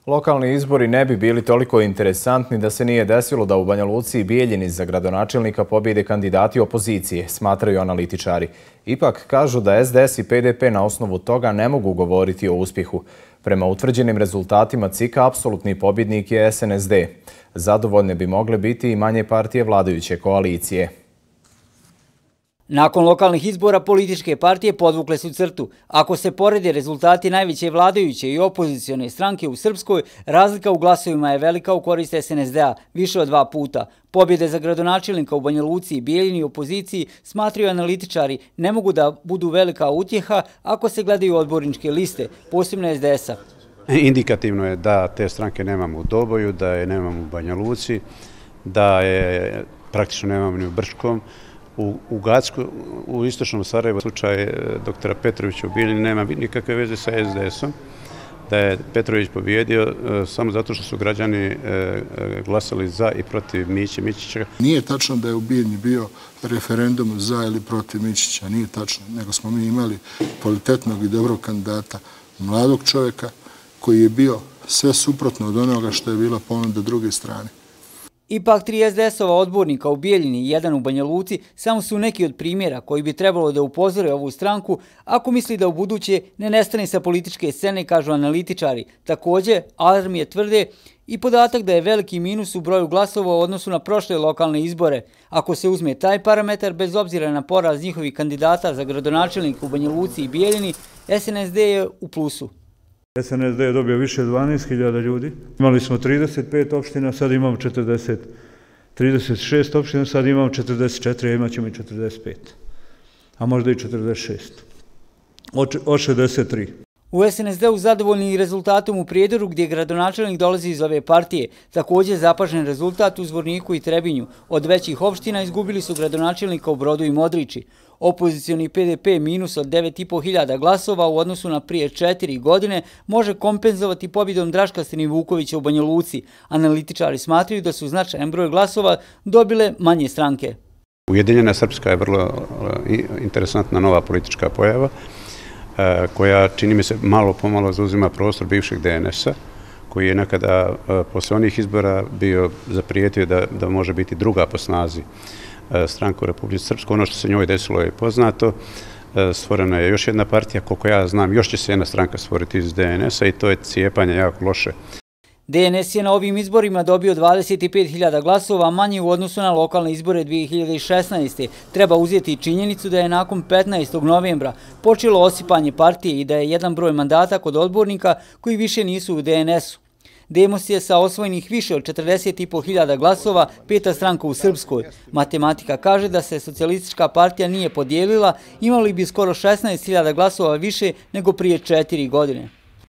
Lokalni izbori ne bi bili toliko interesantni da se nije desilo da u Banja Luci i Bijeljini za gradonačelnika pobjede kandidati opozicije, smatraju analitičari. Ipak kažu da SDS i PDP na osnovu toga ne mogu govoriti o uspjehu. Prema utvrđenim rezultatima CIK-a apsolutni pobjednik je SNSD. Zadovoljne bi mogle biti i manje partije vladajuće koalicije. Nakon lokalnih izbora političke partije podvukle su crtu. Ako se porede rezultati najveće vladajuće i opozicione stranke u Srpskoj, razlika u glasovima je velika u korist SNSD-a, više od 2 puta. Pobjede za gradonačelnika u Banja Luci i Bijeljini i opoziciji, smatraju analitičari, ne mogu da budu velika utjeha ako se gledaju odborničke liste, posebno SDS-a. Indikativno je da te stranke nemamo u Doboju, da je nemamo u Banja Luci, da je praktično nemamo ni u Brčkom. U Gacku, u istočnom Sarajevu, slučaj doktora Petrovića u Bijeljini nema nikakve veze sa SDS-om, da je Petrović pobjedio samo zato što su građani glasali za i protiv Miće Mićića. Nije tačno da je u Bijeljini bio referendum za ili protiv Mićića, nije tačno, nego smo mi imali kvalitetnog i dobrog kandidata, mladog čovjeka koji je bio sve suprotno od onoga što je bila ponuda druge strane. Ipak 3 SDS-ova odbornika u Bijeljini i 1 u Banja Luci samo su neki od primjera koji bi trebalo da upozore ovu stranku ako misli da u buduće ne nestane sa političke scene, kažu analitičari. Također, alarm je tvrde i podatak da je veliki minus u broju glasova u odnosu na prošle lokalne izbore. Ako se uzme taj parametar, bez obzira na poraz njihovih kandidata za gradonačelnika u Banja Luci i Bijeljini, SNSD je u plusu. SNSD je dobio više od 12.000 ljudi. Imali smo 35 opština, sad imamo 36 opština, sad imamo 44, a imat ćemo i 45. A možda i 46. Od 63. U SNSD-u zadovoljni rezultatom u Prijedoru, gdje gradonačelnik dolazi iz ove partije. Također zapažen rezultat u Zvorniku i Trebinju. Od većih opština izgubili su gradonačelnika u Brodu i Modriči. Opozicioni PDP minus od 9.500 glasova u odnosu na prije 4 godine može kompenzovati pobjedom Draška Stenivukovića u Banja Luci. Analitičari smatraju da su značajan broj glasova dobile manje stranke. Ujedinjena Srpska je vrlo interesantna nova politička pojava, koja, čini mi se, malo pomalo zauzima prostor bivšeg DNS-a, koji je nekada posle onih izbora bio zaprijetio da može biti druga po snazi stranka u Republici Srpskoj. Ono što se njoj desilo je poznato. Stvorena je još jedna partija, koliko ja znam, još će se jedna stranka stvoriti iz DNS-a i to je cijepanje jako loše. DNS je na ovim izborima dobio 25.000 glasova, manje u odnosu na lokalne izbore 2016. Treba uzeti činjenicu da je nakon 15. novembra počelo osipanje partije i da je jedan broj mandata kod odbornika koji više nisu u DNS-u. Demos je sa osvojenih više od 40.500 glasova 5. stranka u Srpskoj. Matematika kaže da se socijalistička partija nije podijelila, imali bi skoro 16.000 glasova više nego prije 4 godine.